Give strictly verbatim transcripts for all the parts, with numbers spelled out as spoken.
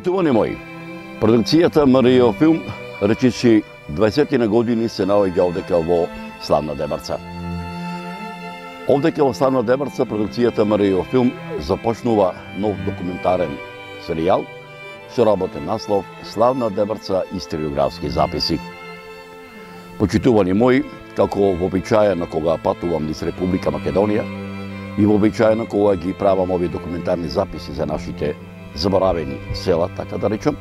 Почитувани мои, продукцијата МРЈ Филм речиси дваесет години се наоѓа овдека во славна Дебарца. Овдека во славна Дебарца продукцијата МРЈ Филм започнува нов документарен серијал со работен наслов Славна Дебарца историографски записи. Почитувани мои, како вообичаено кога патувам низ Република Македонија и вообичаено кога ги правам овие документарни записи за нашите заборавени села, така да речам,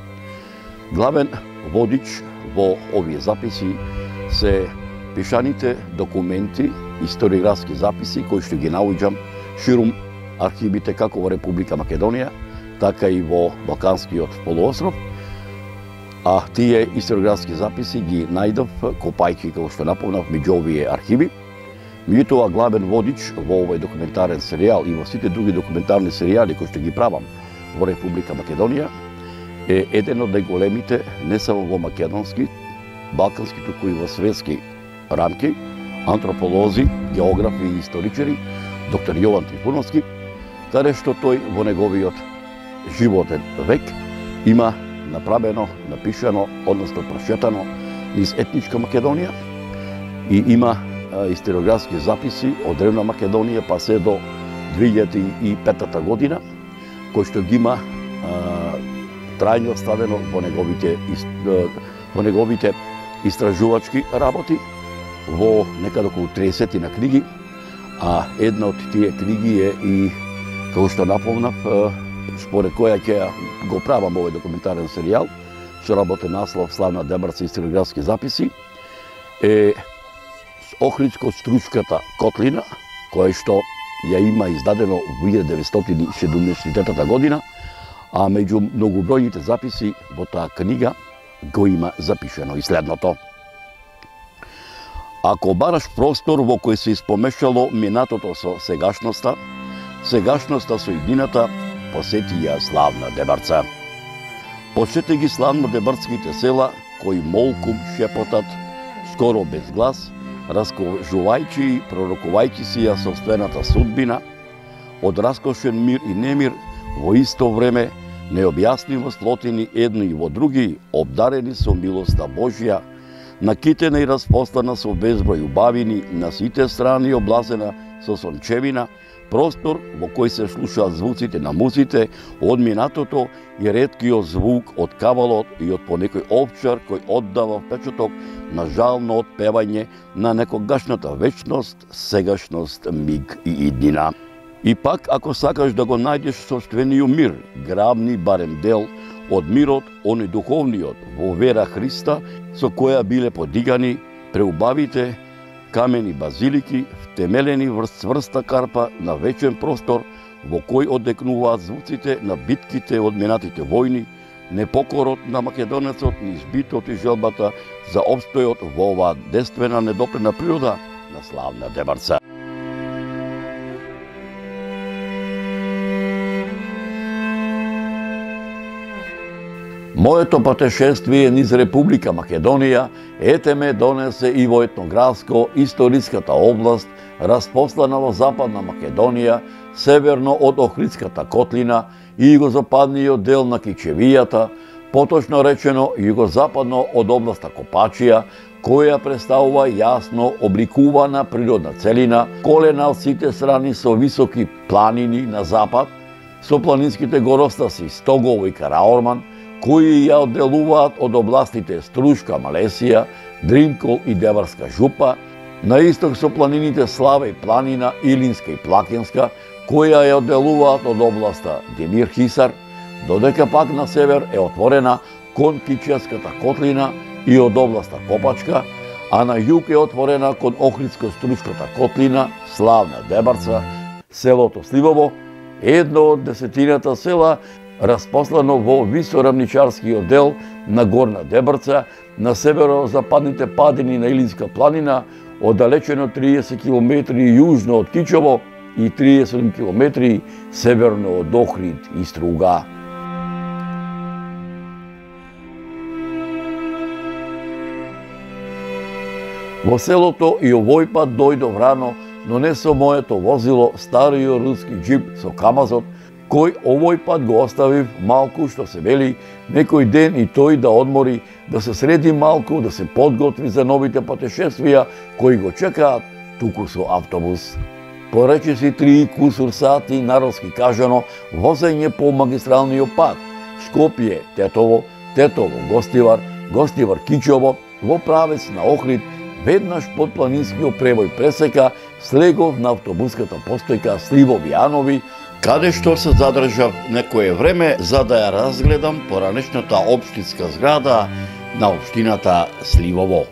главен водич во овие записи се пишаните документи, историографски записи кои што ги наоѓам ширум архивите како во Република Македонија, така и во Балканскиот полуостров, а тие историографски записи ги најдов копајќи, како што напомнав, меѓу овие архиви. Меѓутоа, главен водич во овој документарен серијал и во сите други документарни серијали кои што ги правам во Република Македонија е еден од најголемите, не само во македонски, балкански, туку и во светски рамки, антрополози, географи и историчари, доктор Јован Трифуновски, каде што тој во неговиот животен век има направено, напишано, односно прочетано низ етничка Македонија и има а, историографски записи од древна Македонија па се до две илјади и петта година, кој што ги има а, трајно оставено во неговите, во неговите истражувачки работи, во некаде околу триесет на книги, а една од тие книги е и, како што напомнав, според која ќе го правам овој документарен серијал, со работен наслов Славна Дебарца историографски записи, е Охридско-Стручката котлина, која што ја има издадено во илјада деветстотини и седумдесет година, а меѓу многобројните записи во таа книга го има запишено и следното. Ако бараш простор во кој се испомешало минатото со сегашноста, сегашноста со иднината, посети ја славна Дебарца. Посети ги славно дебарските села, кои молкум шепотат, скоро без глас, раскажувајќи и пророкувајќи си ја собствената судбина, од раскошен мир и немир, во исто време, необјаснимо сплотени едни и во други, обдарени со милоста Божја, накитена и распослана со безброј убавини, на сите страни облазена со сончевина, простор во кој се слушаат звуците на музите, од минатото и реткиот звук од кавалот и од понекој овчар кој оддава впечаток на жално отпевање на некогашната вечност, сегашност, миг и иднина. И пак, ако сакаш да го најдеш собствениот мир, грабни барем дел од мирот, оној духовниот, во вера Христа, со која биле подигани преубавите камени базилики, втемелени врз цврста карпа на вечен простор, во кој одекнуваат звуците на битките од минатите војни, непокорот на македонецот, низ битот и желбата за обстојот во оваа действена недопрена природа на славна Дебарца. Моето патешествие низ Република Македонија ете ме донесе и во етнографско историската област, распослана во Западна Македонија, северно од Охридската котлина и југозападниот дел на Кичевијата, поточно речено југозападно од областа Копачија, која представува јасно обликувана природна целина, колена од сите страни со високи планини на запад, со планинските горостаси Стогово и Караорман, кои ја одделуваат од областите Струшка, Малесија, Дримкол и Деварска жупа, на исток со планините Слава и планина, Илинска и Плакинска, која ја одделуваат од областа Демир Хисар, додека пак на север е отворена кон Кичевската котлина и од областа Копачка, а на југ е отворена кон Охридско-Стручката котлина, славна Дебарца, селото Сливово, едно од десетината села распослано во висорамничарскиот дел на Горна Дебарца, на северо-западните падини на Илинска планина, оддалечено триесет километри јужно од Кичево и триесет километри северно од Охрид и Струга. Во селото и овој пат дојдов рано, но не со моето возило, стариот руски джип со камазот, кој овој пат го оставив малку, што се вели, некој ден и тој да одмори, да се среди малку, да се подготви за новите патешествија кои го чекаат туку со автобус. По речиси три и кусур сати, народски кажано, возење по магистралниот пат Скопје, Тетово, Тетово, Гостивар, Гостивар, Кичово, во правец на Охрид, веднаш под планинскиот превој пресека, слегов на автобуската постојка Сливови Јанови, каде што се задржав некое време за да ја разгледам поранешната општинска зграда на општината Сливово.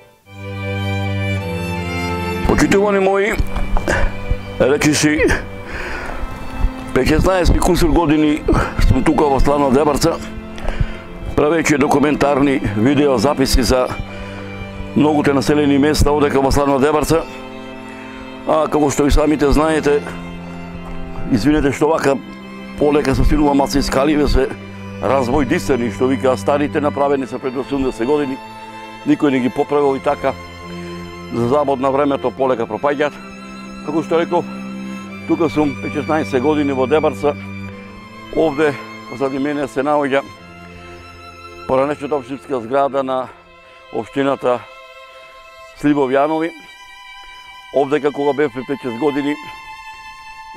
Почитувани мои, речиси, петнаесет кусур години сум тука во Славна Дебарца, правејќи документарни видеозаписи за многуте населени места одека во Славна Дебарца. А како што и самите знаете, извинете што вака полека се стинува малце искаливе се развој дисани, што вика старите направени се пред осумдесет години, никој не ги поправил и така, за забод на времето полека пропаѓаат. Како што реков, тука сум петнаесет години во Дебарца, овде позади мене се наоѓа поранешната општинска зграда на општината Сливови Јанови. Овде кога бев пред пет-шест години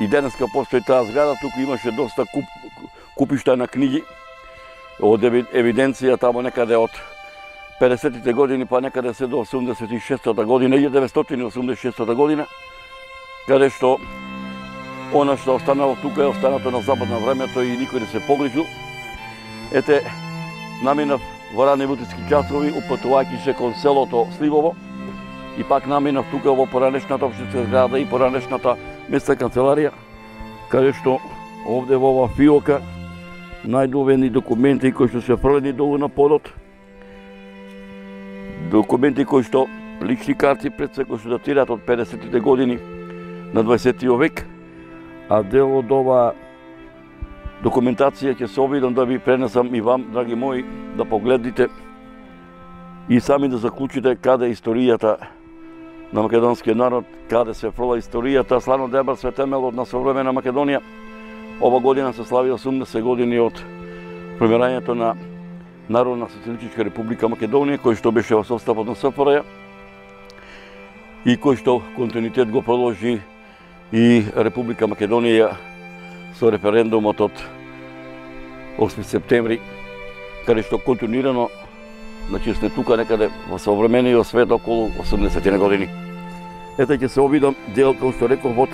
и денеска постои таа зграда, туку имаше доста куп, купишта на книги од евиденција тамо некаде од педесетите години па некаде се до осумдесет и шестата година, илјада деветстотини осумдесет и шестата година, каде што она што останало тука е останато на забод на времето и никој не се погрижил. Ете, наминав во ранни утрески часови, упатувајќи се кон селото Сливово, и пак наминав тука во поранешната општинска зграда и поранешната местна канцеларија, каде што овде во ова фиока најдовени документи кои што се фрлени долу на подот, документи кои што лични карти пред се кои што датираат од педесетите години на дваесеттиот век, а дел од ова документација ќе се обидам да ви пренесам и вам, драги мои, да погледнете и сами да заклучите каде е историјата на македонскиот народ, каде се фрла историјата. Славна Дебарца е темелот на современа Македонија. Ова година се слави осумдесет години од формирањето на Народна социјалистичка република Македонија, кој што беше во составот на С Ф Р Ј и кој што континуитет го продолжи и Република Македонија со референдумот од осми септември, каде што континуирано, значи сме тука некаде во современиот свет околу осумдесет години. Ете ќе се обидам дел, како што реков, од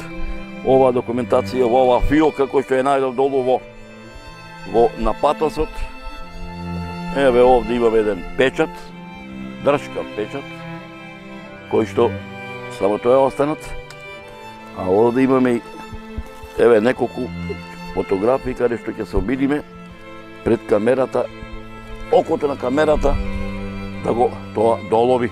оваа документација, во оваа фиока кој што е најдов долу во, во на патосот. Еве овде имаме еден печат, дршкав печат, кој што само тоа е останат. А овде имаме еве неколку фотографии каде што ќе се обидиме пред камерата, окото на камерата, да го тоа долови.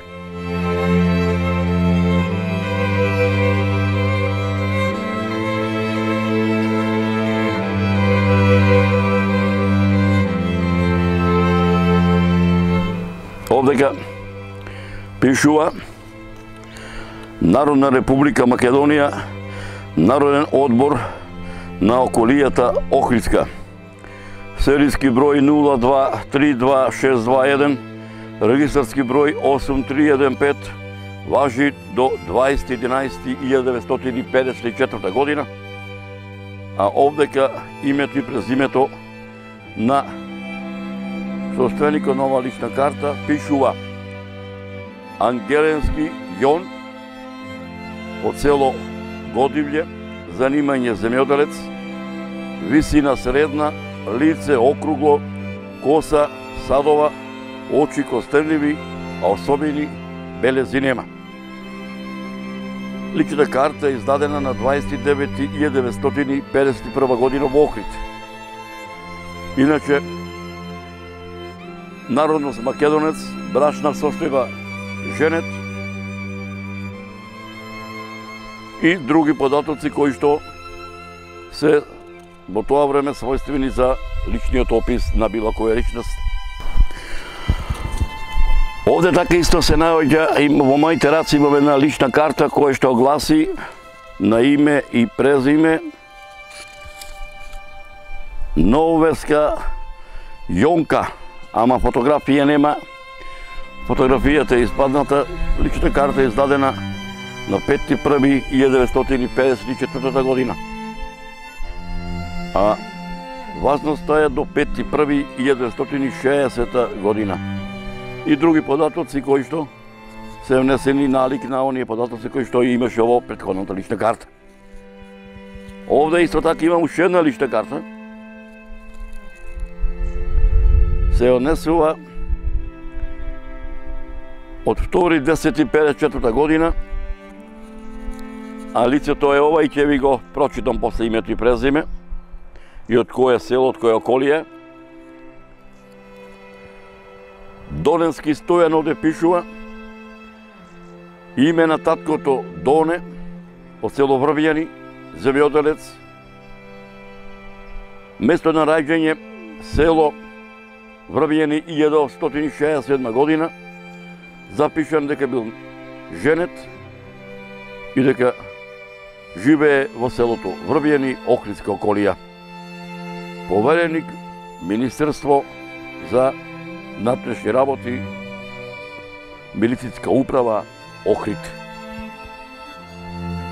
Овдека пишува Народна република Македонија, Народен одбор на околијата Охридска. Серијски број нула два три два шест два еден, регистарски број осум три еден пет, важи до дваесети единаесети илјада деветстотини педесет и четврта година, а овдека името и презимето на собственикот на ова лична карта пишува Ангеленски Јон, од село Годивље, занимање земјоделец, висина средна, лице округло, коса садова, очи костенливи, а особени белези нема. Личната карта е издадена на дваесети девети илјада деветстотини педесет и прва година во Охрид. Иначе, народност македонец, брачна состојба женет и други податоци кои што се во тоа време својствени за личниот опис на било која личност. Овде така исто се наоѓа, во моите раци имаме една лична карта која што гласи на име и презиме Нововеска Јонка, ама фотографија нема. Фотографијата е испадната, личната карта е издадена на пети први илјада деветстотини педесет и четвртата година. А важноста е до пети први илјада деветстотини шеесета година. И други податоци кои што се внесени налик на оние податоци кои што имаше ово претходната лична карта. Овде исто така имам уште една лична карта. Се однесува од втори десети педесет и четврта година, а лицето е ова и ќе ви го прочитам после името и презиме и од кое село, од кое околие. Доненски Стојан овде пишува. Име на таткото Доне, од село Врвјани, земјоделец. Место на раѓање село Врвјани илјада осумстотини шеесет и седма година. Запишан дека бил женет и дека живее во селото Врвјани, Охридска околија. Повереник Министерство за внатрешни работи, милицитска управа Охрид.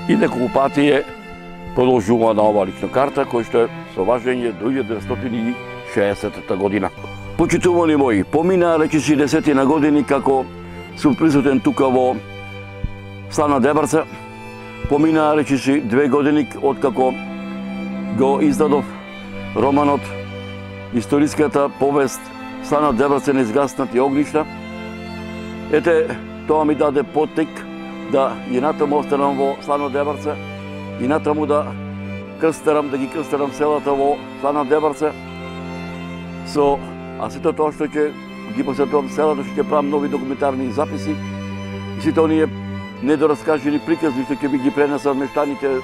И неколку пати е продолжува на ова лична карта, кој што е со важење до илјада деветстотини шеесетта година. Почитувани мои, помина речиси десетина години како сум присутен тука во Славна Дебарца. Помина речиси две години од како го издадов романот, историската повест Славна Дебарца на изгаснати огништа. Ете, тоа ми даде поттик да и натаму останам во Славна Дебарца и натаму да крстарам, да ги крстарам селата во Славна Дебарца со а сето тоа што ќе ги посетувам селата, што ќе правам нови документарни записи и сите оние недораскажени приказни што ќе би ги пренесат мештаните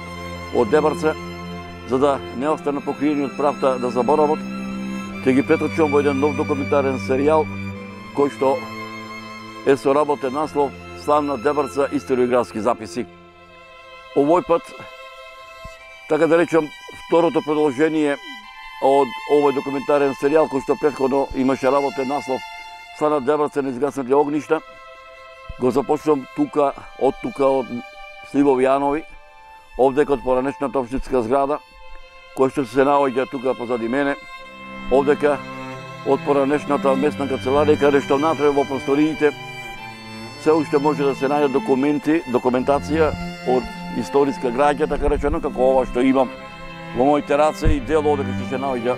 од Дебарца, за да не останат покриени од правта да заборават, ќе ги преточувам во еден нов документарен серијал кој што е со работен наслов Славна Дебарца историографски записи. Овој пат, така да речам, второто продолжение од овој документарен серијал кој што претходно имаше работен наслов Славна Дебарца на изгаснати огништа, го започнам тука, од тука, од Сливови Јанови, овде код поранешната општинска зграда, кој што се наоѓа тука позади мене, овдека од поранешната местна канцеларија, каде што внатре во просториите се уште може да се најдат документи, документација од историска граѓа, така речено, како ова што имам во моите раце и дел овде што се наоѓа,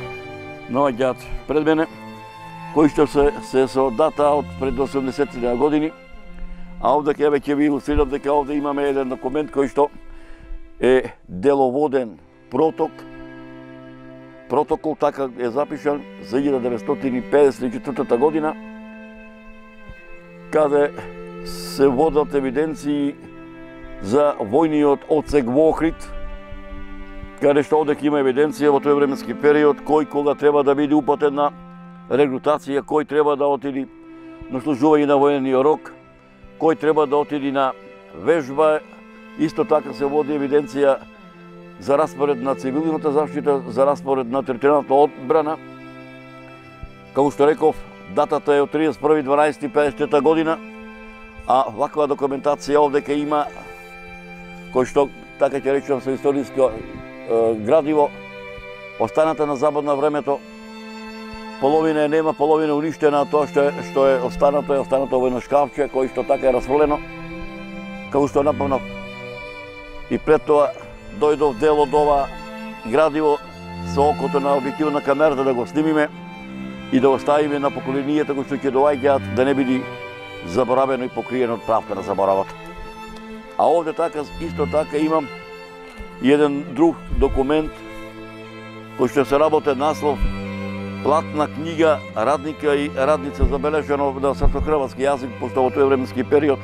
наоѓаат пред мене, кои што се, се со дата од пред осумдесетти години. А овде ќе веќе ви илустрирам дека овде имаме еден документ кој што е деловоден проток. Протокол така е запишан за илјада деветстотини педесет и четвртата година, каде се водат евиденции за војниот одсек во Охрид, каде што овде има евиденција во тој временски период кој кога треба да биде упатен на регрутација, кој треба да отиди на служување на воениот рок, кој треба да отиди на вежба. Исто така се води евиденција за распоред на цивилната заштита, за распоред на територијалната одбрана. Како што реков, датата е од тридесет и први дванаесети педесетта година, а ваква документација овде ке има, кој што, така ќе речем, со историско е, градиво, останата на забор на времето, половина е нема, половина е уништена, тоа што е, што е останато е останато во едно шкафче, кој што така е расфрлено, како што напомнав. И пред тоа дојдов дел од ова градиво со окото на објективна камерата да го снимиме и да оставиме на поколенијата кои што ќе доаѓаат, да не биде заборавено и покриено од правта на заборавот. А овде така, исто така имам и еден друг документ кој што се работен наслов Платна книга радника и радница, забележено на српско-хрватски јазик, пошто во тој временски период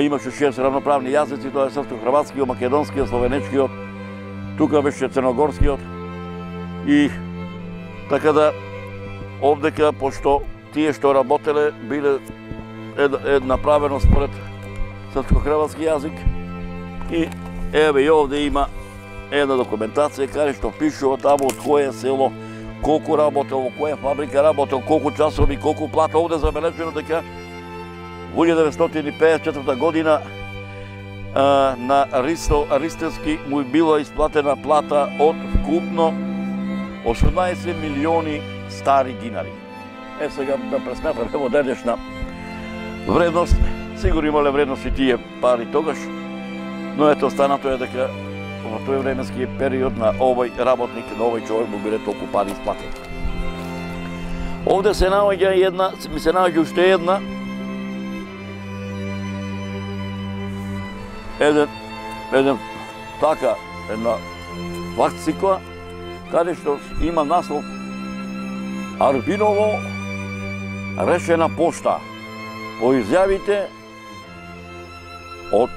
имаше шест равноправни јазици, тоа е српско-хрватскиот, македонскиот, словенечкиот, тука беше црногорскиот. И така да овдека, пошто тие што работеле биле е, е направено според српско-хрватски јазик, и еве и овде има една документација каде што пишува таму од кое село колку работел, во која фабрика работел, колку часови, колку плата. Овде забележено дека во илјада деветстотини пеесет и четврта година а, на Ристо Ристевски му е била исплатена плата од вкупно осумнаесет милиони стари динари. Е, сега да пресметаме во денешна вредност, сигурно имале вредност и тие пари тогаш, но ето останато е дека во тој временски период на овој работник, на овој човек му биле толку пари исплатени. Овде се наоѓа една, ми се наоѓа уште една, еден, еден така, една факцикла, каде што има наслов Арбиново решена пошта по изјавите од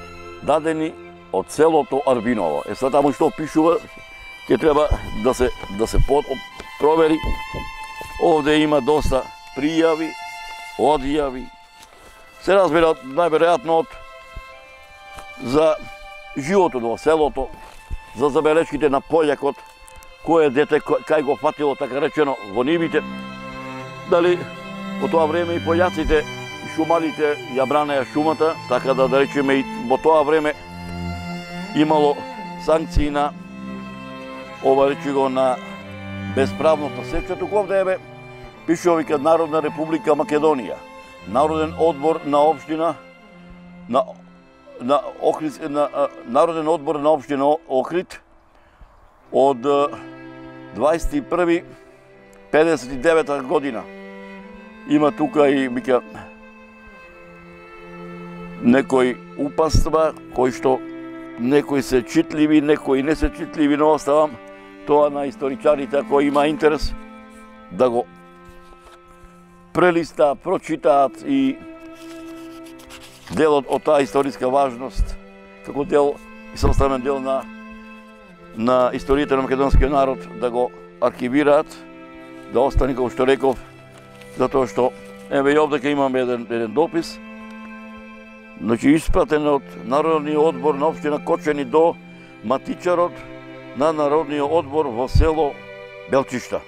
дадени од селото Арбиново. Е, сега таму што пишува, ќе треба да се да се провери. Овде има доста пријави, одјави. Се разбира најверојатно од за животот во селото, за забелешките на пољакот, кое дете кај го фатило, така речено, во нивите. Дали во тоа време и пољаците и шумарите ја бранеа шумата, така да да речеме и во тоа време имало санкции на ова речи го на безправното сеча. Туку овде еве пишува вика Народна република Македонија, Народен одбор на општина на на Охрид, на Народен одбор на општина Охрид од дваесет и први педесет и девета година. Има тука и вика некои упатства кои што некои се читливи, некои не се читливи, но оставам тоа на историчарите ако има интерес да го прелиста, прочитаат и делот од таа историска важност, како дел и составен дел на на историјата на македонскиот народ, да го архивираат, да остане, како што реков, затоа што еве и овде имаме еден еден допис, значи испратен од Народниот одбор на општина Кочани до матичарот на Народниот одбор во село Белчишта.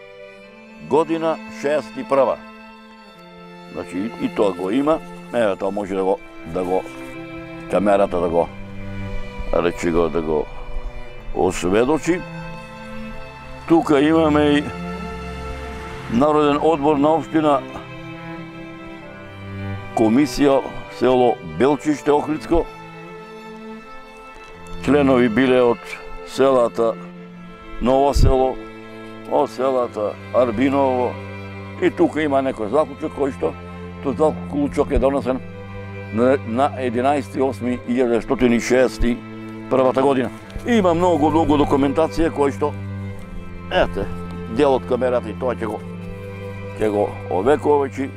Година шеесет и прва. Значи и, и тоа го има. Еве тоа може да го да го камерата да го речи го да го осведочи. Тука имаме и Народен одбор на општина комисија село Белчиште Охридско. Членови биле од селата Ново село, од селата Арбиново и тука има некој заклучок кој што тој заклучок е донесен на единаесети осми илјада деветстотини шеесет и прва година. Има многу, многу документација кој што, ете, дел од камерата и тоа ќе го, ќе го овековечи.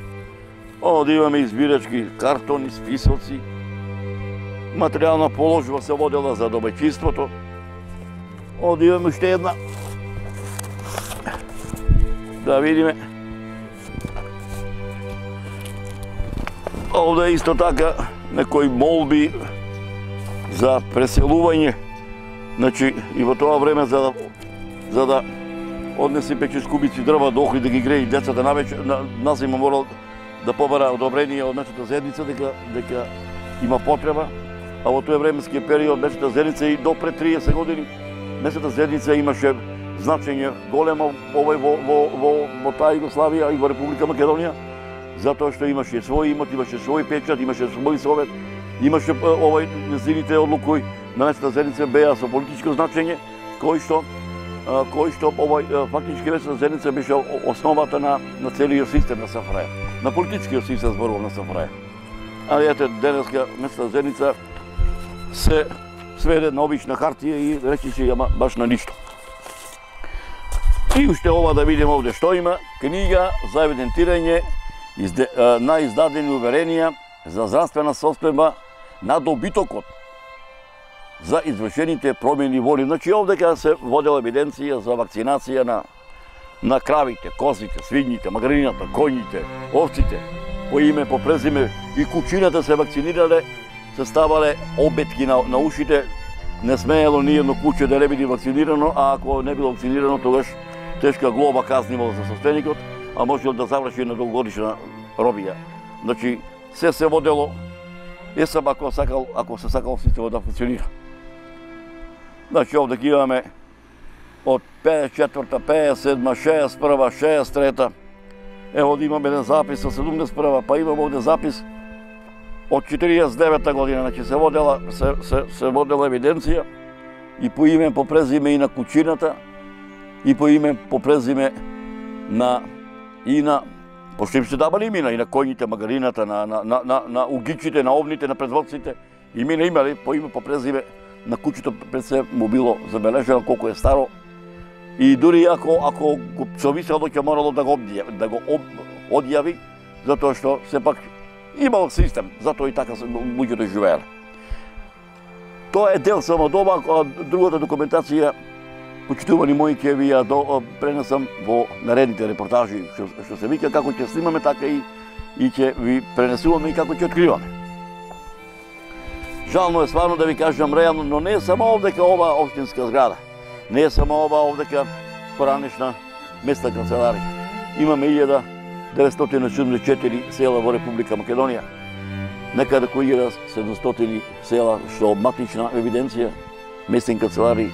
Овде имаме избирачки картони, списоци, материјална положба се водела за домаќинството. Овде имаме уште една. Да видиме. Овде исто така некои молби за преселување. Значи и во тоа време за да за да однесе печеш кубици дрва до Охрид да ги греи децата навечер, нас има морал да побара одобрение од месната заедница дека дека има потреба, а во тој временски период месната заедница и до пред триесет години месната заедница имаше значење големо овој во во во во таа Југославија и во Република Македонија, затоа што имаше свој имот, имаше свој печат, имаше свој совет, имаше овој неziните одлуки на месната заедница беа со политичко значење, кој што кој што овој фактички месната заедница беше основата на на целиот систем на СФРJ, на политичкиот систем зборувам на СФРJ. А ете денеска месната заедница се сведе на обична хартија и речиси ама баш на ништо. И уште ова да видиме овде што има, книга за евидентирање на издадени уверенија за здравствена состојба на добитокот за извршените промени воли. Значи овде кога се водела евиденција за вакцинација на на кравите, козите, свињите, магрината, коњите, овците, по име, по презиме и кучината се вакцинирале, се ставале обетки на, на ушите, не смеело ни едно куче да не биде вакцинирано, а ако не било вакцинирано, тогаш тешка глоба казна имал за собственикот, а можел да заврши на долгогодишна робија. Значи, се се водело, е сам ако сакал, ако се сакал системот да функционира. Значи, овде ги имаме од пеесет и четврта, пеесет и седма, шеесет и прва, шеесет и трета. Ево да имаме еден запис од седумдесет и прва, па имаме овде запис од четириесет и девета година, значи се водела, се, се, се водела евиденција и по име, по презиме и на кучината, и по име, по презиме на и на пошто им се давали имена и на коњите, магарината, на, на, на, на, на угичите, на овните, на предводците. Имена имали по име, по презиме на кучето пред се му било забележено колку е старо. И дури ако ако го совисело ќе морало да го одјави, да го об, одјави, затоа што сепак имал систем, затоа и така луѓето живееле. Тоа е дел само од ова, а другата документација, почитувани мои, ќе ви ја пренесам во наредните репортажи, што, што се вика, како ќе снимаме, така и, и ќе ви пренесуваме и како ќе откриваме. Жално е стварно да ви кажам реално, но не е само овдека ова општинска зграда. Не е само ова овдека поранешна местна канцеларија. Имаме илјада деветстотини седумдесет и четири села во Република Македонија. Некаде кои илјада седумстотини села што матична евиденција, местни канцеларии,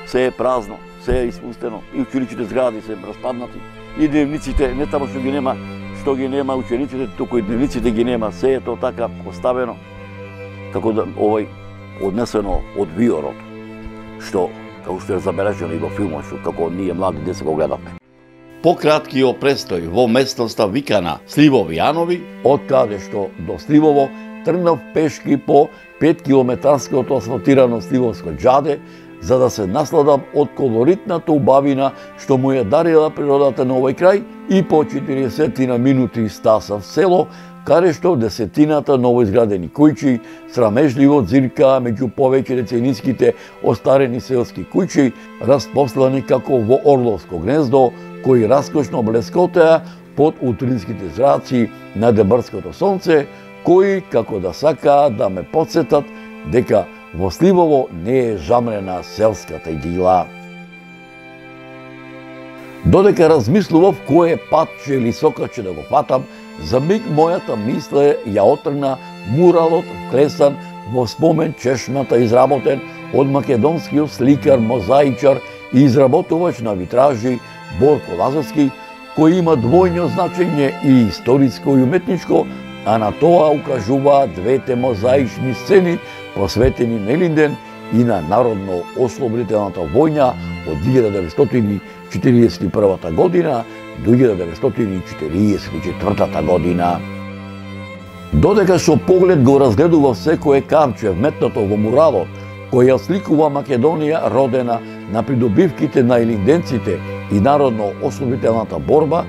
се е празно, се е испустено, и ученичите згради се распаднати, и дневниците, не тамо што ги нема, што ги нема учениците, туку и дневниците ги нема, се е тоа така оставено, како да овој однесено од виорот, што како што е забележено и во филмот, што како ние млади деца го гледавме. Пократкиот престој во местноста викана Сливови Јанови, од каде што до Сливово тргнав пешки по петкилометарското асфалтирано Сливовско џаде, за да се насладам од колоритната убавина што му ја дарила природата на овој крај, и по четиридесетина минути стасав село, каде што десетината новоизградени куќи срамежливо дзиркаа меѓу повеќе децениските остарени селски куќи, распослани како во орловско гнездо, кои раскошно блескотеа под утринските зраци на дебрското сонце, кои како да сакаат да ме потсетат дека во Сливово не е жамрена селската идила. Додека размислував кој е патче или сокаче да го фатам, за миг мојата мисла ја отргна муралот вклесан во спомен чешмата, изработен од македонскиот сликар, мозаичар и изработувач на витражи Борко Лазарски, кој има двојно значење и историско и уметничко, а на тоа укажуваат двете мозаични сцени посветени на Илинден и на Народно-ослободителната војна од илјада деветстотини четириесет и прва година до илјада деветстотини четириесет и четвртата година. Додека со поглед го разгледува секое камче вметнато во муралот, кој ја сликува Македонија родена на придобивките на илинденците и народно-ослободителната борба,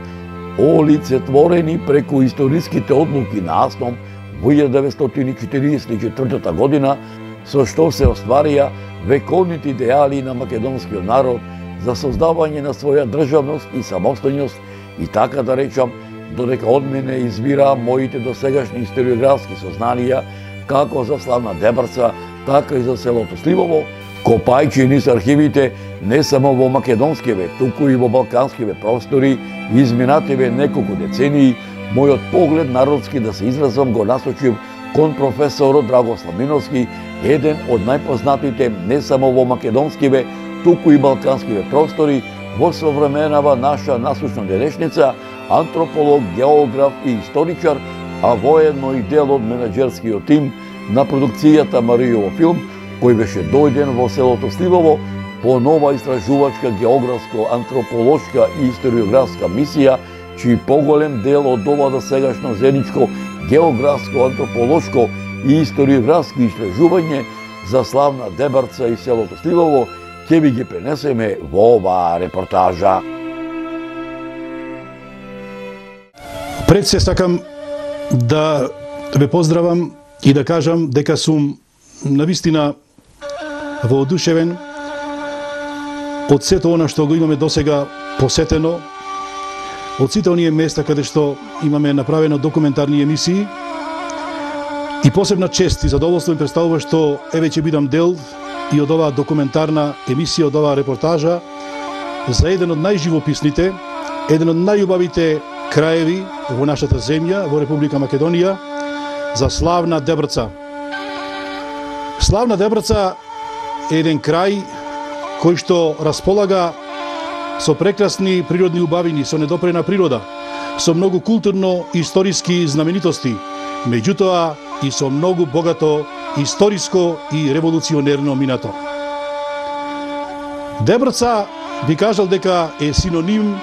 олицетворени преку историските одлуки на Асном во илјада деветстотини четириесет и четвртата година, со што се остварија вековните идеали на македонскиот народ за создавање на своја државност и самостојност, и така да речам, додека од мене извира моите досегашни историографски сознанија, како за славна Дебрца, така и за селото Сливово, копајќи низ архивите не само во македонскиве, туку и во балканскиве простори, изминативе неколку децении, мојот поглед народски да се изразам го насочив кон професорот Драгослав Миновски, еден од најпознатите не само во македонскиве, туку и балканскиве простори, во современава наша насущна денешница, антрополог, географ и историчар, а воедно и дел од менаџерскиот тим на продукцијата Маријово филм, кој беше дојден во селото Сливово по нова истражувачка, географско, антрополошка и историографска мисија, чиј поголем дел од ова досегашно заедничко географско, антрополошко и историографски истражување за славна Дебрца и селото Сливово ќе ви ги пренесеме во оваа репортажа. Пред се сакам да ве поздравам и да кажам дека сум навистина воодушевен од сето она што го имаме досега посетено, од сите оние места каде што имаме направено документарни емисии, и посебна чест и задоволство ми представува што еве ќе бидам дел и од оваа документарна емисија, од оваа репортажа, за еден од најживописните, еден од најубавите краеви во нашата земја, во Република Македонија, за славна Дебрца. Славна Дебрца е еден крај кој што располага со прекрасни природни убавини, со недопрена природа, со многу културно-историски знаменитости, меѓутоа и со многу богато историско и револуционерно минато. Дебрца би кажал дека е синоним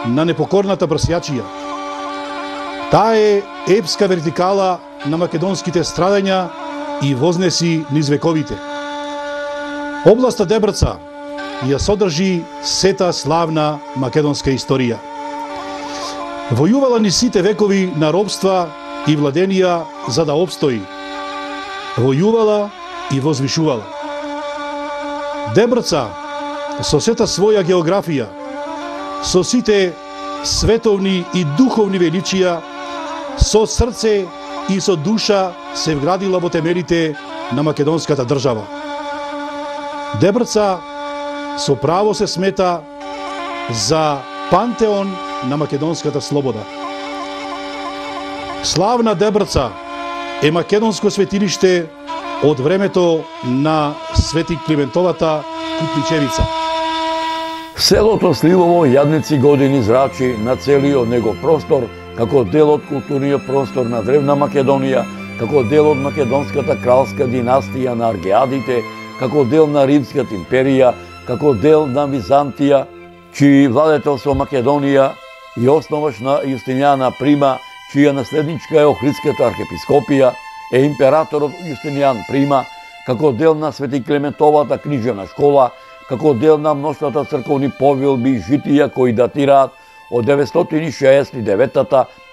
на непокорната брсјачија. Таа е епска вертикала на македонските страдања и вознеси низ вековите. Областа Дебрца ја содржи сета славна македонска историја. Војувала ни сите векови на робства и владенија за да обстои. Војувала и возвишувала. Дебрца со сета своја географија, со сите световни и духовни величија, со срце и со душа се вградила во темелите на македонската држава. Дебрца со право се смета за пантеон на македонската слобода. Славна Дебрца е македонско светилиште од времето на Свети Климентовата Купличевица. Селото Сливово јадници години зрачи на целиот него простор како дел од културниот простор на древна Македонија, како дел од македонската кралска династија на Аргеадите, како дел на Римската империја, како дел на Византија, чиј владетел со Македонија и основач на Јустинијана Прима, чија наследничка е Охридската архиепископија, е императорот Јустинијан Прима, како дел на Свети Клементовата книжевна школа, како дел на мноштвата црковни повелби и житија кои датираат од деветстотини шеесет и девета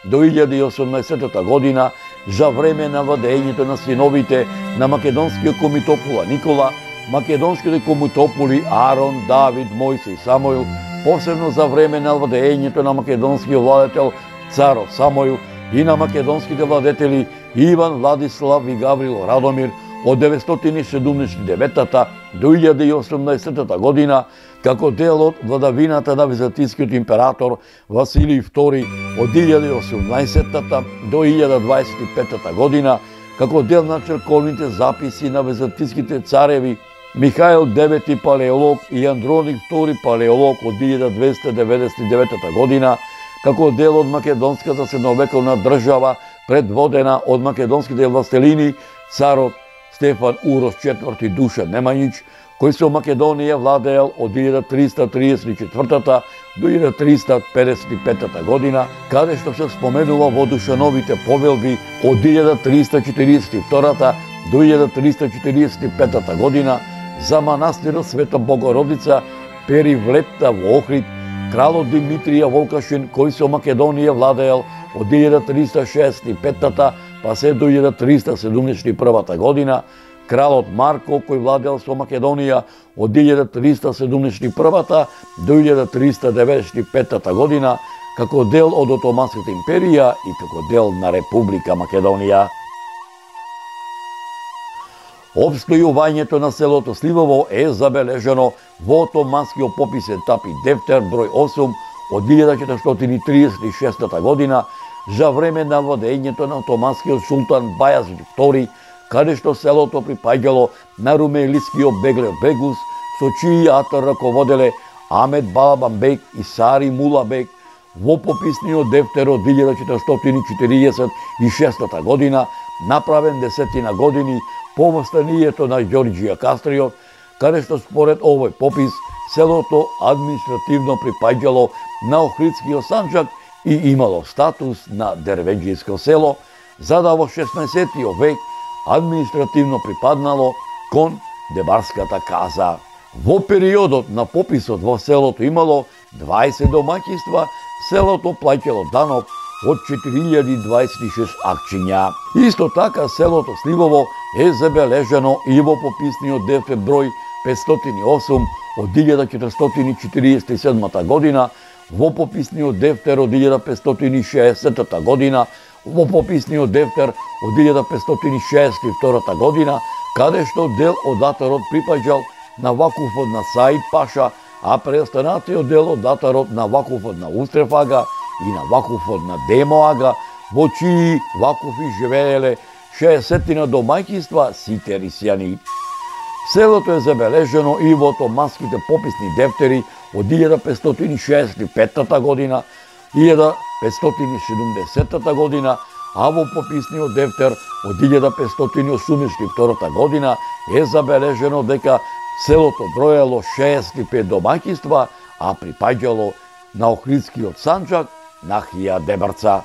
до илјада и осумнаесетта година, за време на владењето на синовите на македонскиот комитопула Никола, македонските комитополи Арон, Давид, Мојсе и Самоил, посебно за време на владењето на македонскиот владетел царот Самоил и на македонските владетели Иван, Владислав и Гаврил Радомир од деветстотини седумдесет и девета до илјада и осумнаесетта година, како дел од владавината на византискиот император Василий втори од илјада и осумнаесетта до илјада дваесет и петта година, како дел на црковните записи на византиските цареви Михаил девети палеолог и Андроник втори палеолог од илјада двеста деветдесет и девета година, како дел од македонската средновековна држава предводена од македонските властелини царот Стефан Урош четврти Душан Немањич, кој со Македонија владеел од илјада триста триесет и четврта до илјада триста педесет и петта година, каде што се споменува во Душановите повелби од илјада триста четириесет и втора до илјада триста четириесет и петта година за манастирот Света Богородица Перивлепта во Охрид, кралот Димитрија Волкашин, кој со Македонија владеел од илјада триста шеесет и петта па се до илјада триста седумдесет и прва година, кралот Марко, кој владеел со Македонија од илјада триста седумдесет и прва до илјада триста деветдесет и петта година, како дел од Отоманската империја и како дел на Република Македонија. Обстојувањето на селото Сливово е забележано во Отоманскиот пописен тапи Дефтер број осум од илјада четиристотини триесет и шеста година, за време на владењето на отоманскиот султан Бајазид втори, каде што селото припаѓало на румелискиот Беглер Бегус, со чиј атар раководеле Амет Балабанбек и Сари Мулабек. Во пописниот дефтер од илјада четиристотини четириесет и шеста година, направен десетина години по востанието на Ѓорѓија Кастриот, каде што според овој попис селото административно припаѓало на Охридскиот санџак и имало статус на дервеџијско село, за да во шеснаесеттиот век административно припаднало кон Дебарската каза. Во периодот на пописот во селото имало дваесет домаќинства, селото плаќало данок од четири илјади дваесет и шест акчиња. Исто така селото Сливово е забележано и во пописниот дефтер број петстотини и осум од илјада четиристотини четириесет и седма година, во пописниот дефтер од илјада петстотини и шеесетта година, во пописниот дефтер од илјада петстотини шеесет и втора година, каде што дел од атарот припаѓал на вакуфот на Саид Паша, а преостанатиот дел од датарот на Вакуфот на Устрефага и на Вакуфот на Демоага, во чии вакуфи живееле шеесеттина домаќинства сите рисјани. Селото е забележено и во томаските пописни дефтери од илјада петстотини шеесет и петта година, илјада петстотини и седумдесетта година, а во пописниот дефтер од илјада петстотини и осумдесет и втора година е забележено дека селото броело шеесет и пет домаќинства, а припаѓало на Охридскиот санџак на Хија Дебрца.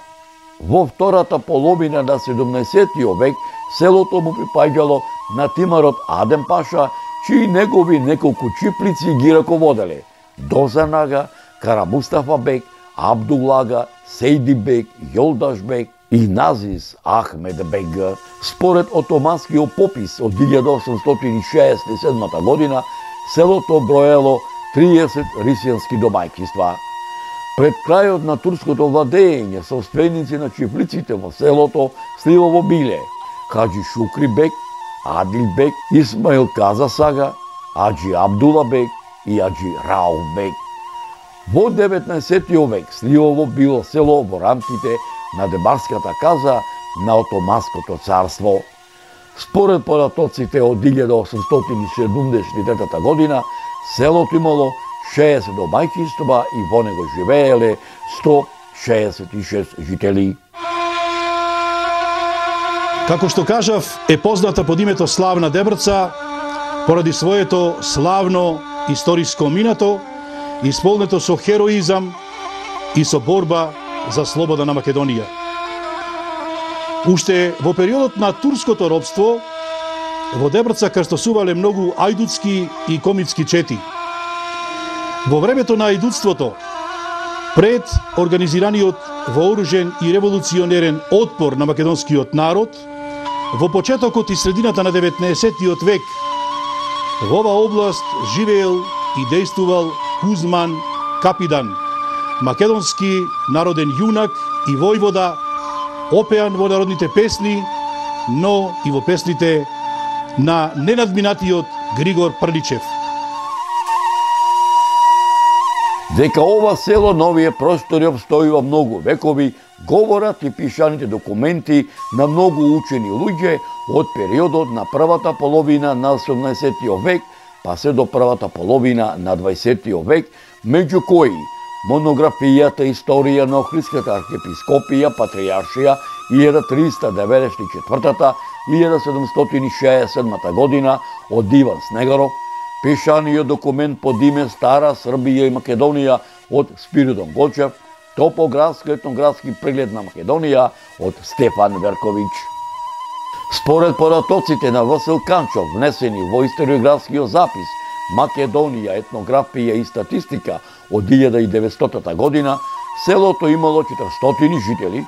Во втората половина на седумнаесеттиот век селото му припаѓало на тимарот Адем Паша, чии негови неколку чиплици ги раководеле Дозанага, Кара Мустафа бек, Абдулага, Сейди бек, Јолдаш бек и Назис Ахмед бек. Според отоманскиот попис од илјада осумстотини шеесет и седма година, селото броело триесет рисјански домаќинства. Пред крајот на турското владење, собственици на чифлиците во селото Сливово биле Хаджи Шукри бек, Адил бек, Исмаил Каза Сага, Аджи Абдула бек и Аджи Рауф бек. Во деветнаесеттиот век Сливово било село во рамките на Дебарската каза на Отоманското царство. Според податоците од илјада осумстотини и седумдесет и трета година, селото имало шеесет домаќинства и во него живееле сто шеесет и шест жители. Како што кажав, е позната под името Славна Дебрца поради своето славно историско минато, исполнето со хероизам и со борба за слобода на Македонија. Уште во периодот на турското робство, во Дебрца крстосувале многу ајдутски и комитски чети. Во времето на ајдутството, пред организираниот вооружен и револуционерен отпор на македонскиот народ, во почетокот и средината на деветнаесеттиот век, во ова област живеел и дејствувал Кузман Капидан, македонски народен јунак и војвода, опеан во народните песни, но и во песните на ненадминатиот Григор Прдичев. Дека ова село на овие простори обстојува многу векови, говорат и пишаните документи на многу учени луѓе од периодот на првата половина на осумнаесеттиот век, па се до првата половина на дваесеттиот век, меѓу кои монографијата Историја на Охридската архиепископија, Патријаршија, илјада триста деветдесет и четврта - илјада седумстотини шеесет и седма година од Иван Снегаров, пишаниот документ под име Стара Србија и Македонија од Спиридон Гочев, топографско-етнографски преглед на Македонија од Стефан Верковиќ. Според податоците на Васил Канчов, внесени во историографскиот запис Македонија, етнографија и статистика од илјада и деветстотта година, селото имало четиристотини жители,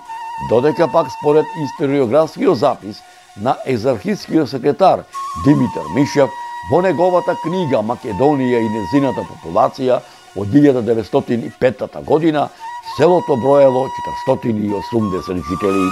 додека пак според историографскиот запис на екзархискиот секретар Димитар Мишев, во неговата книга Македонија и незината популација од илјада деветстотини и петта година, селото броело четиристотини и осумдесет жители.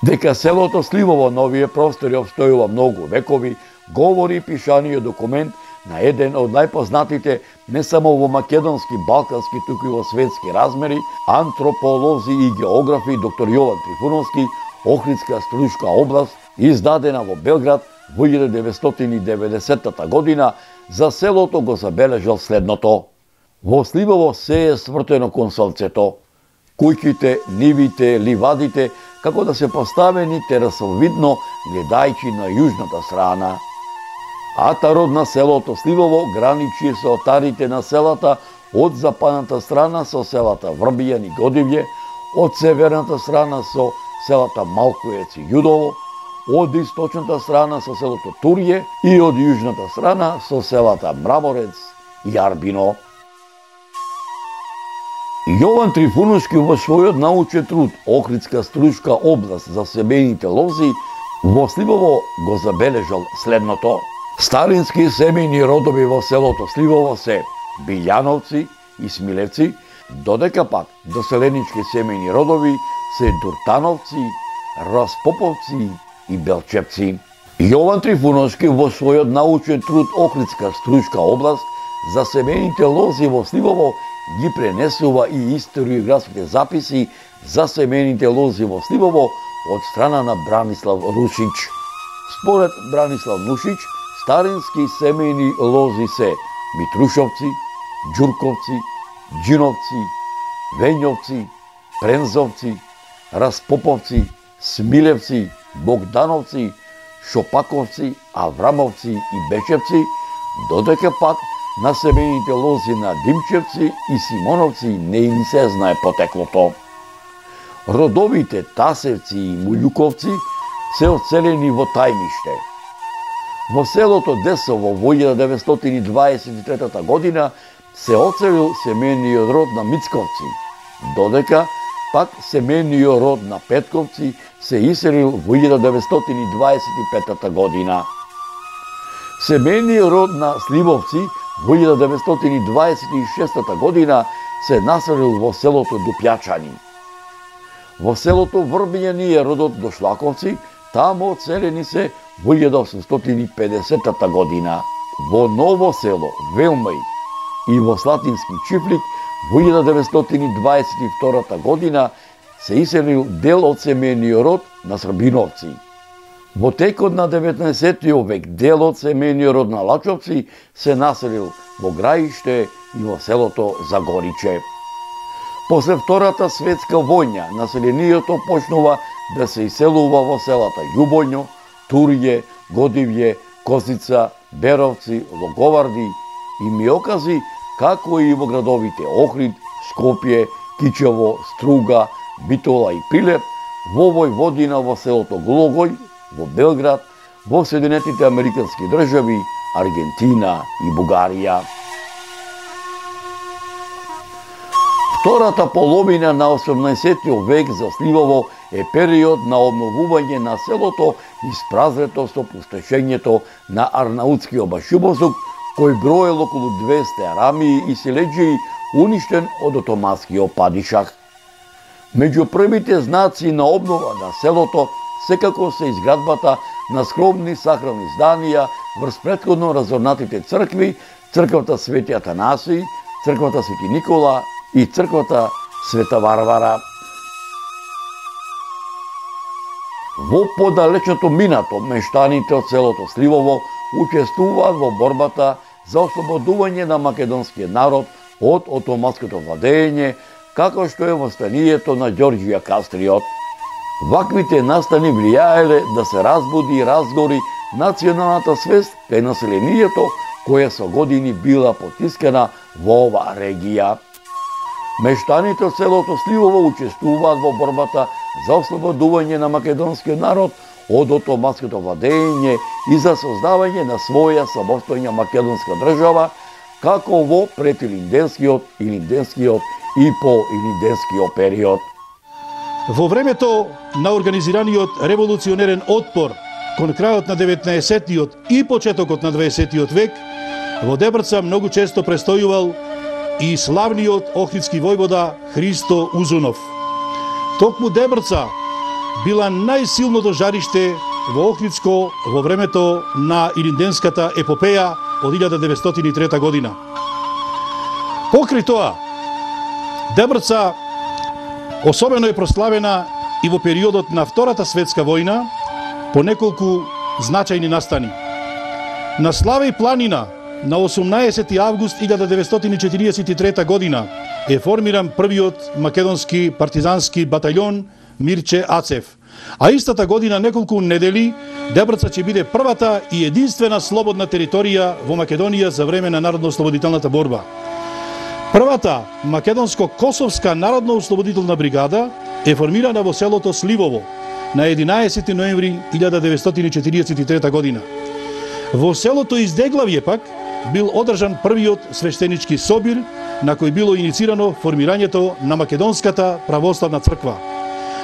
Дека селото Сливово на овие простори обстојува многу векови, говори пишаниот документ на еден од најпознатите не само во македонски, балкански, туку и во светски размери, антрополози и географи доктор Јован Трифуновски, Охридска Струшка област, издадена во Белград во илјада деветстотини и деветдесетта година, за селото го забележал следното: во Сливово се е свртено кон сонцето, куќите, нивите, ливадите, како да се поставени терасовидно, гледајќи на јужната страна. Атарот на селото Сливово граничи со отарите на селата од западната страна со селата Врбијан и Годивје, од северната страна со селата Малкуец и Јудово, од источната страна со селото Турје и од јужната страна со селата Мраморец и Арбино. Јован Трифуновски во својот научен труд Охридска Струшка област за семејните лози во Сливово го забележал следното: старински семејни родови во селото Сливово се Билјановци и Смилевци, додека пак доселенички семејни родови се Дуртановци, Распоповци и Белчевци. Јован Трифуновски во својот научен труд Охридска Струјска област за семените лози во Сливово ги пренесува и историографските записи за семените лози во Сливово од страна на Бранислав Рушич. Според Бранислав Рушич, старински семејни лози се Митрушовци, Ѓурковци, Џиновци, Вењовци, Прензовци, Распоповци, Смилевци, Богдановци, Шопаковци, Аврамовци и Бечевци, додека пак на семејните лози на Димчевци и Симоновци не им се знае потеклото. Родовите Тасевци и Муљуковци се оцелени во тајниште. Во селото Десово во илјада деветстотини дваесет и трета година се оцелил семејниот род на Мицковци, додека пак семејниот род на Петковци се иселил во илјада деветстотини дваесет и пета година. Семејниот род на Сливовци во илјада деветстотини дваесет и шеста година се населил во селото Дупјачани. Во селото Врбињани е родот Дошлаковци, таму оцелени се во илјада осумстотини и педесета година. Во Ново село Велмај и во Слатински Чифлик во илјада деветстотини дваесет и втора година се иселил дел од семејниот род на Србиновци. Во текот на деветнаесеттиот век дел од семејниот род на Лачовци се населил во Граиште и во селото Загориче. После Втората светска војна населението почнува да се иселува во селата Љубоњо, Турје, Годивје, Козица, Беровци, Логоварди и Миокази, како и во градовите Охрид, Скопје, Кичево, Струга, Битола и Прилеп, во Војводина во селото Глогој, во Белград, во Соединетите Американски држави, Аргентина и Бугарија. Втората половина на осумнаесеттиот век за Сливово е период на обновување на селото испразрето со пустошењето на Арнаутскиот башибозук, кој броел околу двесте арамии и селеџии, уништен од отоманскиот падишах. Меѓу првите знаци на обнова на селото секако се изградбата на скромни сахрални зданија врз претходно разорнатите цркви, црквата Свети Атанасиј, црквата Свети Никола и црквата Света Варвара. Во подалечното минато, мештаните од селото Сливово учествуваат во борбата за ослободување на македонскиот народ од отоманското владење, како што е востанието на Ѓорѓија Кастриот. Ваквите настани влијаеле да се разбуди и разгори националната свест кај населението, која со години била потискана во оваа регија. Мештаните од селото Сливово учествуваат во борбата за ослободување на македонскиот народ од отоманското владење и за создавање на своја самостојна македонска држава, како во претилинденскиот, илинденскиот и поилинденскиот период. Во времето на организираниот револуционерен отпор кон крајот на деветнаесеттиот и почетокот на дваесеттиот век, во Дебрца многу често престојувал и славниот охридски војвода Христо Узунов. Токму Дебрца била најсилното жариште во Охридско во времето на Илинденската епопеја од илјада деветстотини и трета година. Покрај тоа, Дебрца особено е прославена и во периодот на Втората светска војна по неколку значајни настани. На Славеј планина на осумнаесети август илјада деветстотини и четириесет и трета година е формиран првиот македонски партизански батаљон Мирче Ацев. А истата година, неколку недели, Дебрца ќе биде првата и единствена слободна територија во Македонија за време на народно-ослободителната борба. Првата македонско-косовска народно-ослободителна бригада е формирана во селото Сливово на единаесети ноември илјада деветстотини и четириесет и трета година. Во селото Издеглавје пак бил одржан првиот свештенички собир на кој било иницирано формирањето на Македонската православна црква.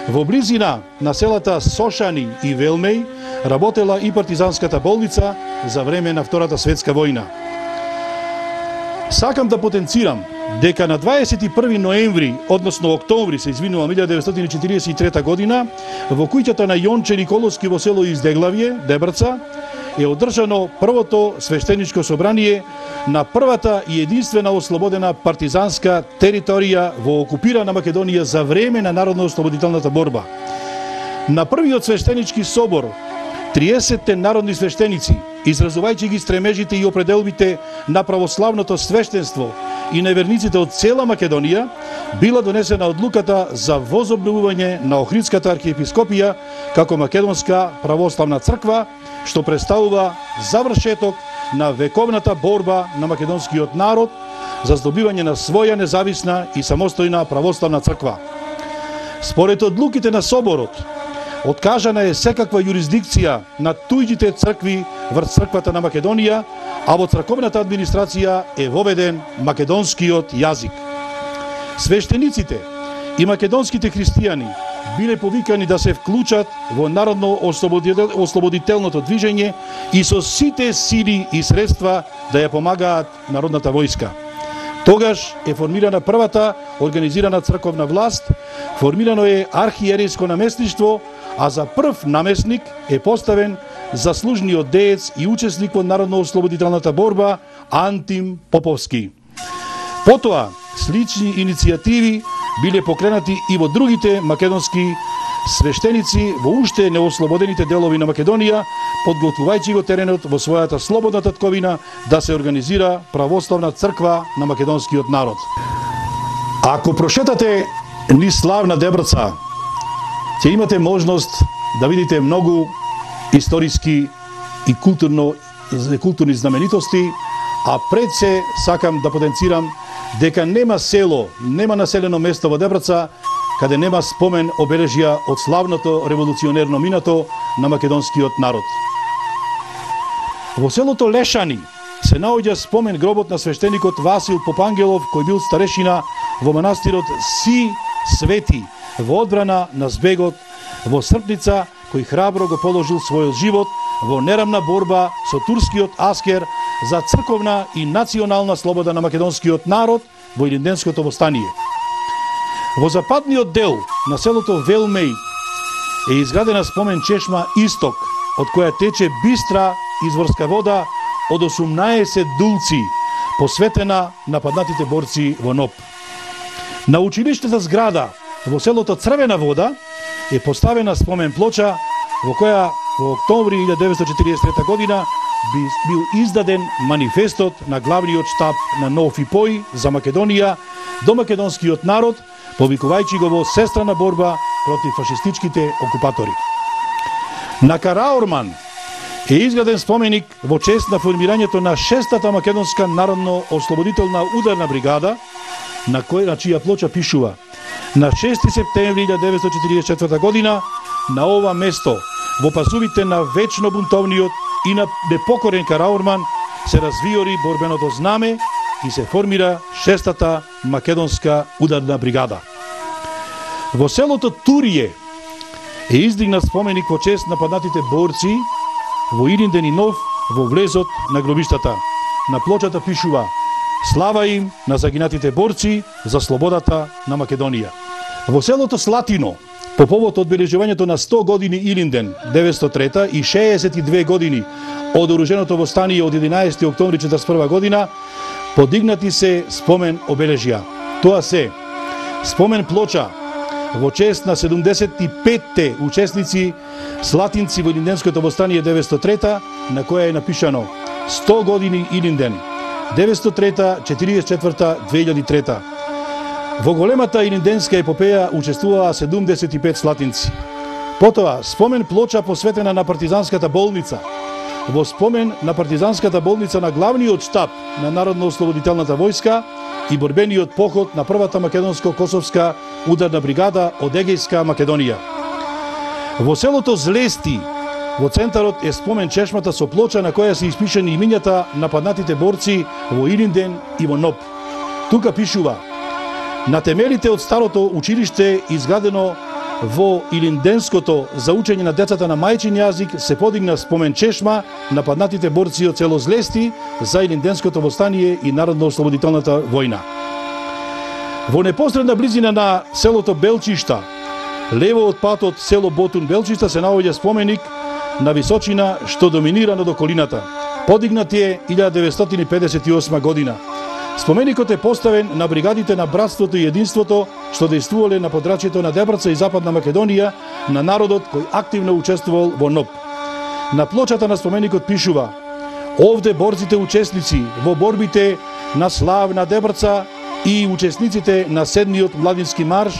Во близина на селата Сошани и Велмеј работела и партизанската болница за време на Втората светска војна. Сакам да потенцирам дека на дваесет и први ноември, односно октомври, се извинувам, илјада деветстотини четиридесет и трета година, во куќата на Јонче Николовски во село Издеглавје, Дебрца, е одржано првото свештеничко собрание на првата и единствена ослободена партизанска територија во окупирана Македонија за време на народно-ослободителната борба. На првиот свештенички собор, триесетте народни свештеници, изразувајќи ги стремежите и определбите на православното свештенство и на верниците од цела Македонија, била донесена одлуката за возобновување на Охридската архиепископија како Македонска православна црква, што представува завршеток на вековната борба на македонскиот народ за здобивање на своја независна и самостојна православна црква. Според одлуките на соборот, откажана е секаква юрисдикција на туѓите цркви врз црквата на Македонија, а во црковната администрација е воведен македонскиот јазик. Свештениците и македонските христијани биле повикани да се вклучат во народно-ослободителното движење и со сите сили и средства да ја помагаат народната војска. Тогаш е формирана првата организирана црковна власт, формирано е архиерейско наместништво, а за прв наместник е поставен заслужниот деец и учесник во народно-ослободителната борба Антим Поповски. Потоа, слични иницијативи биле покренати и во другите македонски свештеници во уште неослободените делови на Македонија, подготвувајќи го теренот во својата слободна татковина да се организира православна црква на македонскиот народ. Ако прошетате низ славна Дебрца, ќе имате можност да видите многу историски и културно, културни знаменитости, а пред се сакам да потенцирам дека нема село, нема населено место во Дебрца каде нема спомен обележја од славното револуционерно минато на македонскиот народ. Во селото Лешани се наоѓа спомен гробот на свештеникот Васил Попангелов, кој бил старешина во манастирот Си Свети во одбрана на збегот во Српница, кој храбро го положил својот живот во нерамна борба со турскиот аскер за црковна и национална слобода на македонскиот народ во Илинденското востание. Во западниот дел на селото Велмеј е изградена спомен чешма Исток, од која тече бистра изворска вода од осумнаесет дулци, посветена на паднатите борци во НОП. На училиштата зграда во селото Црвена вода е поставена спомен плоча во која во октомври илјада деветстотини четиридесет и трета година бил издаден манифестот на главниот штаб на НОФИПОИ за Македонија до македонскиот народ, повикувајќи го во сестрана борба против фашистичките окупатори. На Караорман е изграден споменик во чест на формирањето на шестата македонска народно-ослободителна ударна бригада, на која на чија плоча пишува: на шести септември илјада деветстотини четиридесет и четврта година на ова место во пасувите на вечно бунтовниот и на непокорен Караорман се развиори борбеното знаме и се формира шестата македонска ударна бригада. Во селото Турије е издигнат споменик во чест на паднатите борци во Илинден и Нов во влезот на гробиштата. На плочата пишува: слава им на загинатите борци за слободата на Македонија. Во селото Слатино, по повод одбележувањето на сто години Илинден, деветстотини и трета и шеесет и две години од оруженото востание од единаесети октомври четридесет и прва година, подигнати се спомен обележја. Тоа се спомен плоча во чест на седумдесет и петте учесници слатинци во Илинденското востание деветстотини и трета, на која е напишано сто години Илинден, деветстотини и трета, четиридесет и четврта, две илјади и трета. Во големата илинденска епопеја учествуваа седумдесет и пет слатинци. Потоа, спомен плоча посветена на партизанската болница. Во спомен на партизанската болница на главниот штаб на Народно-ослободителната војска и борбениот поход на првата македонско-косовска ударна бригада од Егејска Македонија. Во селото Злести, во центарот е спомен чешмата со плоча на која се испишани имињата на паднатите борци во Илинден и во Ноп. Тука пишува: на темелите од старото училиште изградено во Илинденското за учење на децата на мајчин јазик се подигна спомен чешма на паднатите борци од село Злести за Илинденското востание и Народно-ослободителната војна. Во непосредна близина на селото Белчишта, лево од патот село Ботун Белчишта, се наоѓа споменик на височина што доминира над околината. Подигнат е илјада деветстотини педесет и осма година. Споменикот е поставен на бригадите на братството и единството што дејствувале на подрачјето на Дебрца и Западна Македонија, на народот кој активно учествувал во НОБ. На плочата на споменикот пишува: овде борците учесници во борбите на славна Дебрца и учесниците на седмиот младински марш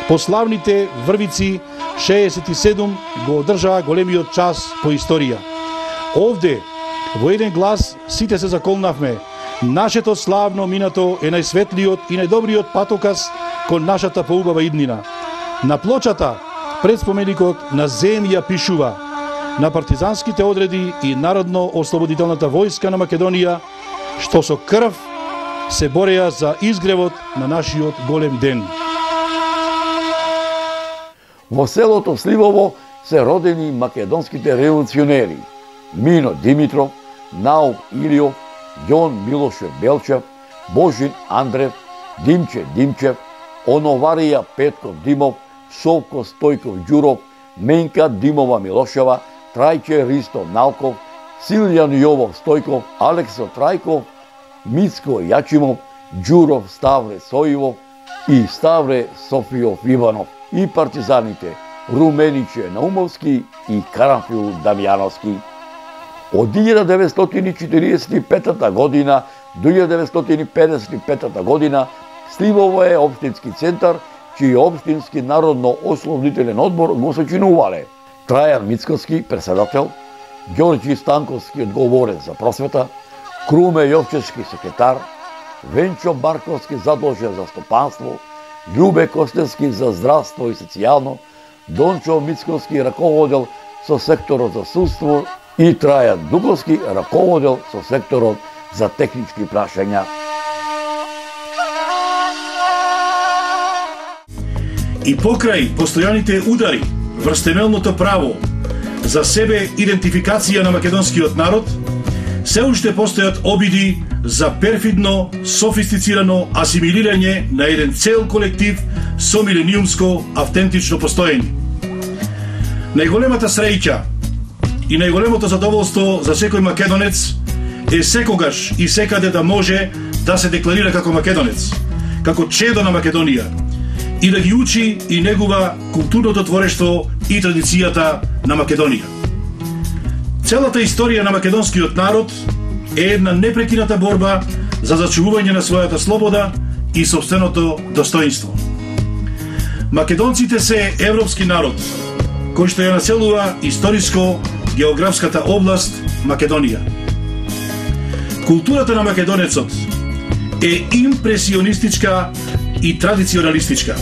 по славните Врвици шеесет и седум го одржаа големиот час по историја. Овде во еден глас сите се заколнавме: нашето славно минато е најсветлиот и најдобриот патоказ кон нашата поубава иднина. На плочата пред споменикот на земја пишува: на партизанските одреди и Народно-ослободителната војска на Македонија, што со крв се бореа за изгревот на нашиот голем ден. Во селото Сливово се родени македонските револуционери Мино Димитров, Наук Илиов, Јон Милошев Белчев, Божин Андрев, Димче Димчев, Оноварија Петков Димов, Совко Стојков Ѓуров, Менка Димова Милошева, Трајче Ристо Налков, Силјан Јовов Стојков, Алексо Трајков, Мицко Јачимов, Ѓуров Ставре Сојивов и Ставре Софијов Иванов, и партизаните Румениче Наумовски и Карамфил Дамјановски. Од илјада деветстотини четиридесет и пета година до илјада деветстотини педесет и пета година Сливово е општински центар, чиј општински народно-ослободителен одбор го сочинувале Трајан Мицковски, председател, Ѓорѓи Станковски, одговорен за просвета, Круме Јовчевски, секретар, Венчо Барковски, задолжен за стопанство, Љубе Костевски за здравство и социјално, Дончо Мицковски раководел со секторот за судство и Трајан Дуковски раководел со секторот за технички прашања. И покрај постојаните удари врз темелното право за себе идентификација на македонскиот народ, се уште постојат обиди за перфидно, софистицирано асимилирање на еден цел колектив со милениумско автентично постоење. Најголемата среќа и најголемото задоволство за секој македонец е секогаш и секаде да може да се декларира како македонец, како чедо на Македонија, и да ги учи и негува културното творештво и традицијата на Македонија. Целата историја на македонскиот народ е една непрекината борба за зачувување на својата слобода и сопственото достоинство. Македонците се европски народ, кој што ја населува историско географската област Македонија. Културата на македонецот е импресионистичка и традиционалистичка.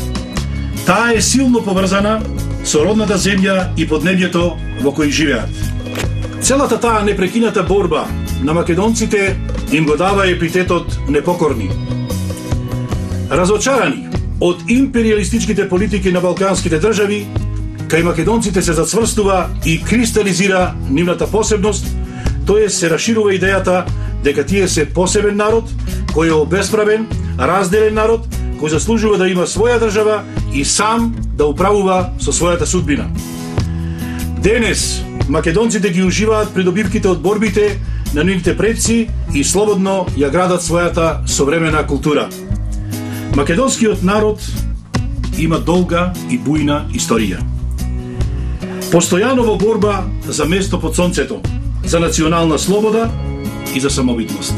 Таа е силно поврзана со родната земја и поднебјето во кој живеат. Целата таа непрекината борба на македонците им го дава епитетот непокорни. Разочарани од империалистичките политики на балканските држави, кај македонците се зацврстува и кристализира нивната посебност, тоест се расширува идејата дека тие се посебен народ, кој е обесправен, разделен народ, кој заслужува да има своја држава и сам да управува со својата судбина. Денес македонците ги уживаат придобивките од борбите на нивните предци и слободно ја градат својата современа култура. Македонскиот народ има долга и бујна историја. Постојано во борба за место под сонцето, за национална слобода и за самобитност.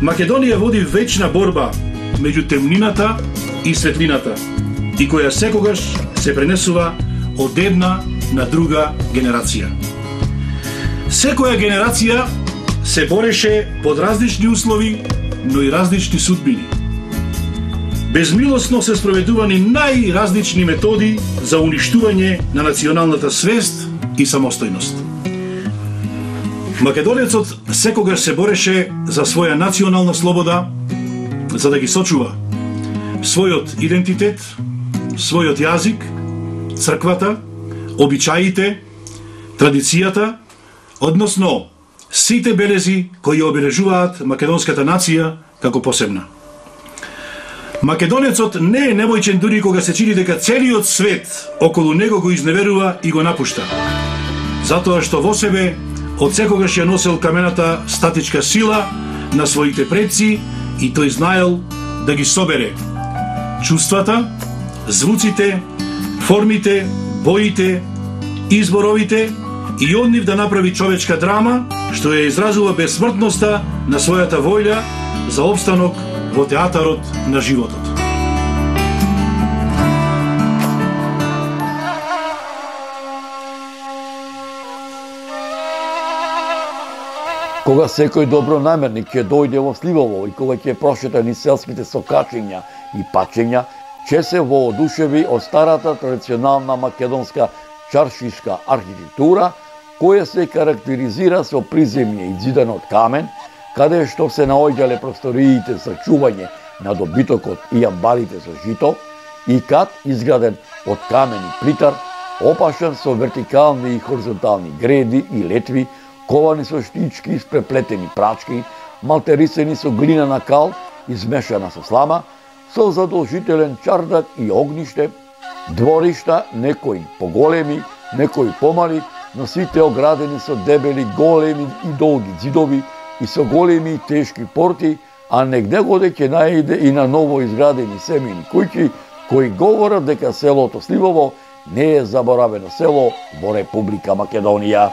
Македонија води вечна борба меѓу темнината и светлината, и која секогаш се пренесува од една на друга генерација. Секоја генерација се бореше под различни услови, но и различни судбини. Безмилосно се спроведувани најразлични методи за уништување на националната свест и самостојност. Македонецот секогаш се бореше за своја национална слобода, за да ги сочува својот идентитет, својот јазик црквата, обичаите, традицијата, односно сите белези кои обележуваат македонската нација како посебна. Македонецот не е невојчен дури кога се чини дека целиот свет околу него го изневерува и го напушта. Затоа што во себе од секогаш ја носел камената статичка сила на своите предци и тој знаел да ги собере чувствата, звуците, формите, боите, изборовите и од нив да направи човечка драма што ја изразува безсмртноста на својата воља за опстанок во театарот на животот. Кога секој добронамерник ќе дојде во Сливово и кога ќе прошета низ селските сокачења и пачења, ќе се воодушеви од старата традиционална македонска чаршишка архитектура, која се карактеризира со приземје изидано од камен, каде што се наоѓале просториите за чување на добитокот и амбарите со жито, и кат изграден од камен и плитар, опашан со вертикални и хоризонтални греди и летви, ковани со штички и спреплетени прачки, малтерисани со глинена кал, измешана со слама, со задолжителен чардак и огниште, дворишта, некои поголеми, некои помали, но сите оградени со дебели, големи и долги ѕидови и со големи и тешки порти, а негде-годе ќе најде и на ново изградени семени куќи, кои говорат дека селото Сливово не е заборавено село во Република Македонија.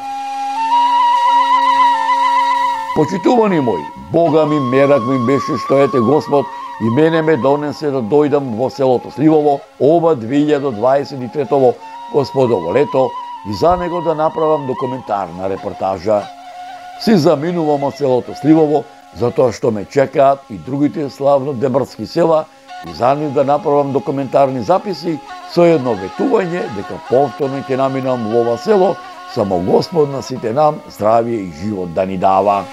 Почитувани мои, Бога ми мерак ми беше што ете Господ и мене ме донесе да дојдам во селото Сливово ова две илјади дваесет и трето Господово лето и за него да направам документарна репортажа. Си заминувам од селото Сливово затоа што ме чекаат и другите славно демарски села и за нив да направам документарни записи со едно ветување дека повторно ќе наминам во ова село, само Господ на сите нам здравие и живот да ни дава.